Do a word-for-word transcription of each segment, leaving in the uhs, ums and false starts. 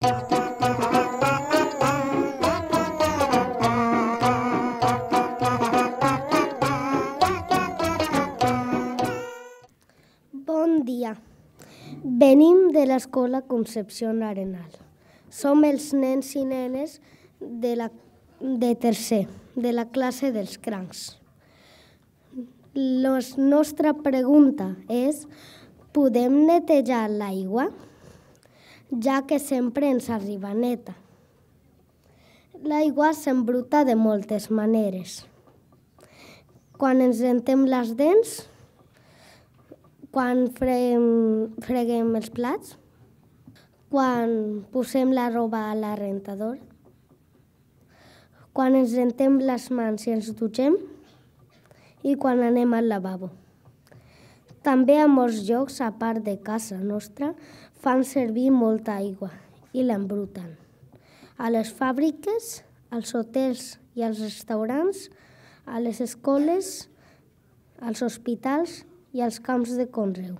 Bon dia. Venim de l'Escola Concepció Arenal. Som els nens i nenes de, la, de tercer, de la classe dels crancs. La nostra pregunta és: podem netejar l'aigua? Ja que sempre ens arriba neta. L'aigua s'embruta de moltes maneres. Quan ens rentem les dents, quan freguem, freguem els plats, quan posem la roba a la rentadora, quan ens rentem les mans i ens dutxem i quan anem al lavabo. També a molts llocs, a part de casa nostra, fan servir molta aigua i l'embruten. A les fàbriques, als hotels i als restaurants, a les escoles, als hospitals i als camps de conreu.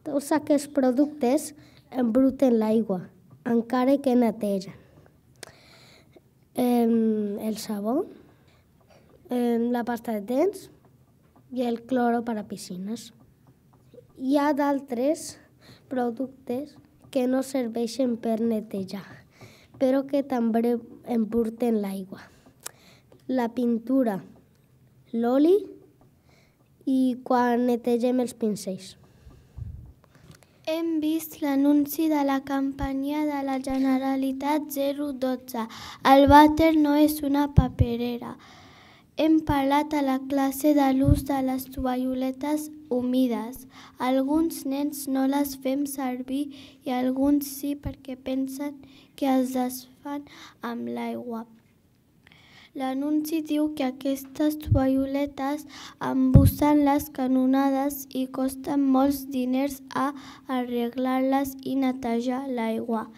Tots aquests productes embruten l'aigua, encara que netegen. El sabó, la pasta de dents i el cloro per a piscines. Hi ha d'altres productes que no serveixen per netejar, però que també embruten l'aigua. La pintura, l'oli i quan netegem els pincells. Hem vist l'anunci de la campanya de la Generalitat zero dotze. El vàter no és una paperera. Hem parlat a la classe de l'ús de les tovalloletes humides. Alguns nens no les fem servir i alguns sí perquè pensen que es desfan amb l'aigua. L'anunci diu que aquestes tovalloletes embussen les canonades i costen molts diners a arreglar-les i netejar l'aigua.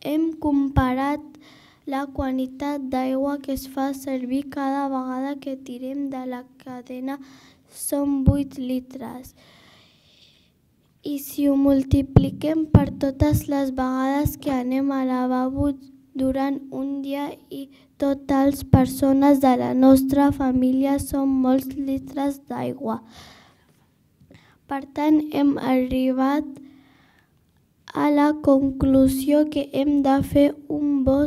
Hem comparat la quantitat d'aigua que es fa servir cada vegada que tirem de la cadena, són vuit litres. I si ho multipliquem per totes les vegades que anem al lavabo durant un dia i totes les persones de la nostra família són molts litres d'aigua. Per tant, hem arribat a la conclusió que hem de fer un bon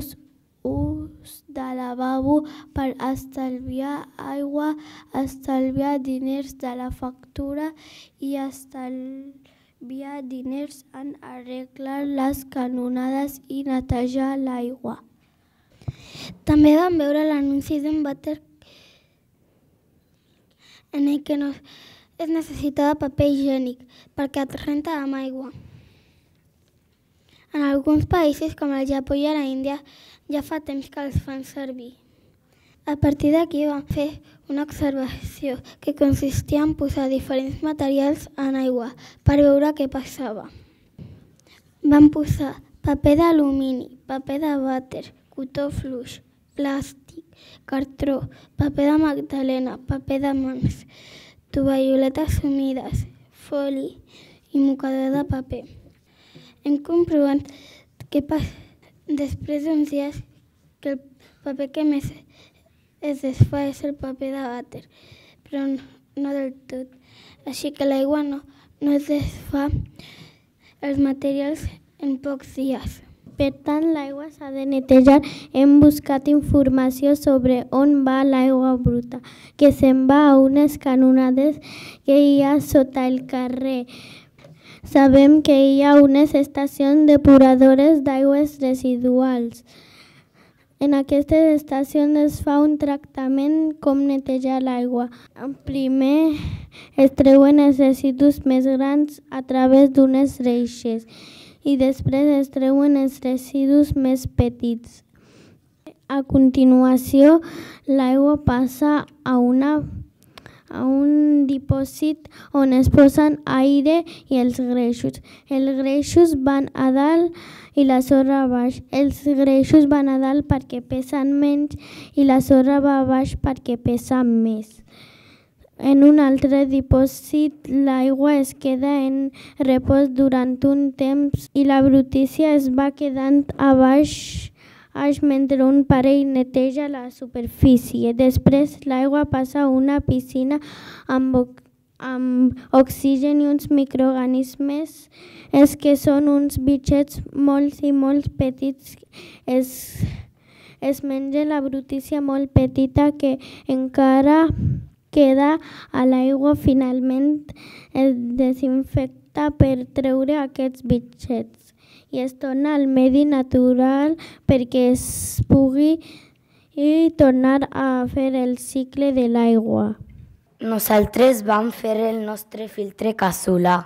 ús de lavabo per estalviar aigua, estalviar diners de la factura i estalviar diners en arreglar les canonades i netejar l'aigua. També vam veure l'anunci d'un vàter en el que no es necessitava paper higiènic perquè es renta amb aigua. En alguns països, com el Japó i a la Índia, ja fa temps que els fan servir. A partir d'aquí vam fer una observació que consistia en posar diferents materials en aigua per veure què passava. Vam posar paper d'alumini, paper de vàter, cotó fluix, plàstic, cartró, paper de magdalena, paper de mans, tovalloletes humides, foli i mocador de paper. Hem comprovat que després d'uns dies que el paper que més es desfà és el paper de vàter, però no del tot. Així que l'aigua no, no es desfà els materials en pocs dies. Per tant, l'aigua s'ha de netejar. Hem buscat informació sobre on va l'aigua bruta, que se'n va a unes canonades que hi ha sota el carrer. Sabem que hi ha unes estacions depuradores d'aigües residuals. En aquestes estacions es fa un tractament com netejar l'aigua. Primer es treuen els residus més grans a través d'unes reixes i després es treuen els residus més petits. A continuació, l'aigua passa a una a un dipòsit on es posen aire i els greixos. Els greixos van a dalt i la sorra a baix. Els greixos van a dalt perquè pesen menys i la sorra va a baix perquè pesa més. en un altre dipòsit l'aigua es queda en repòs durant un temps i la brutícia es va quedant a baix mentre un parell neteja la superfície. Després l'aigua passa a una piscina amb, amb oxigen i uns microorganismes és que són uns bitxets molt i molt petits. Es, es menja la brutícia molt petita que encara queda a l'aigua. Finalment es desinfecta per treure aquests bitxets i es torna al medi natural perquè es pugui i tornar a fer el cicle de l'aigua. Nosaltres vam fer el nostre filtre casolà.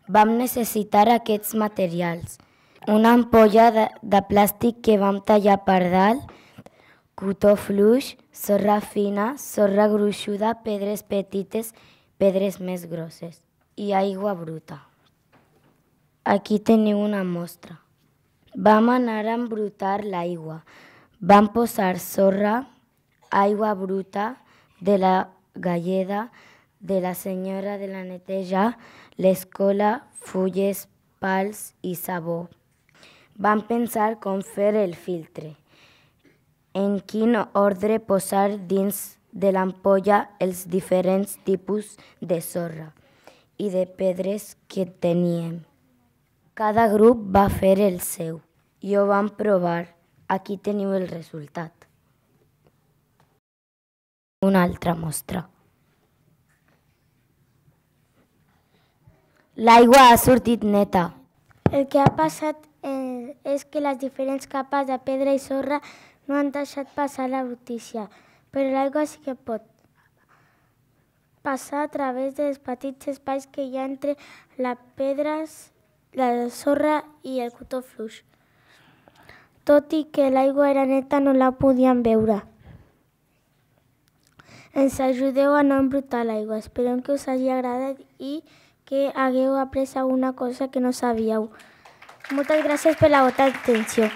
Vam necessitar aquests materials. Una ampolla de, de plàstic que vam tallar per dalt, cotó fluix, sorra fina, sorra gruixuda, pedres petites, pedres més grosses i aigua bruta. Aquí teniu una mostra. Vam anar a embrutar l'aigua. Vam posar sorra, aigua bruta de la galleda, de la senyora de la neteja, l'escola, fulles, pals i sabó. Vam pensar com fer el filtre, en quin ordre posar dins de l'ampolla els diferents tipus de sorra i de pedres que teníem. Cada grup va fer el seu i ho vam provar. Aquí teniu el resultat. Una altra mostra. L'aigua ha sortit neta. El que ha passat eh, és que les diferents capes de pedra i sorra no han deixat passar la brutícia, però l'aigua sí que pot passar a través dels petits espais que hi ha entre les pedres, la sorra i el cotó fluix. Tot i que l'aigua era neta, no la podíem veure. Ens ajudeu a no embrutar l'aigua. Esperem que us hagi agradat i que hagueu après alguna cosa que no sabíeu. Moltes gràcies per la vostra atenció.